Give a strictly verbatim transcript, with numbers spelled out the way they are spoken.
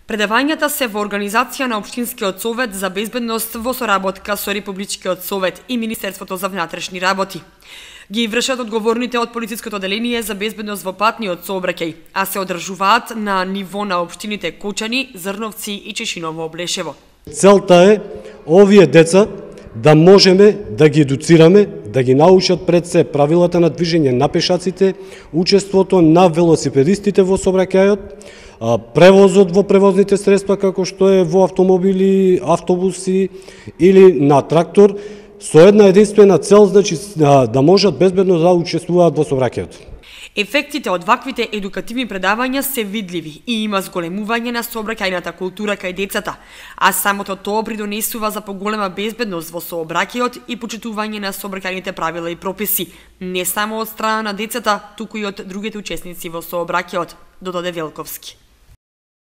Предавањата се во организација на Општинскиот совет за безбедност во соработка со Републичкиот совет и Министерството за внатрешни работи. Ги вршат одговорните од полициското одделение за безбедност во патниот сообраќај, а се одржуваат на ниво на општините Кочани, Зрновци и Чешиново Облешево. Целта е овие деца да можеме да ги едуцираме, да ги научат пред се правилата на движење на пешаците, учеството на велосипедистите во сообраќајот, превозот во превозните средства како што е во автомобили, автобуси или на трактор, со една единствена цел, значи да можат безбедно да учествуваат во сообраќајот. Ефектите од ваквите едукативни предавања се видливи и има зголемување на сообраќајната култура кај децата, а самото тоа придонесува за поголема безбедност во сообраќајот и почитување на сообраќајните правила и прописи, не само од страна на децата, туку и од другите учесници во сообраќајот, додаде Велковски.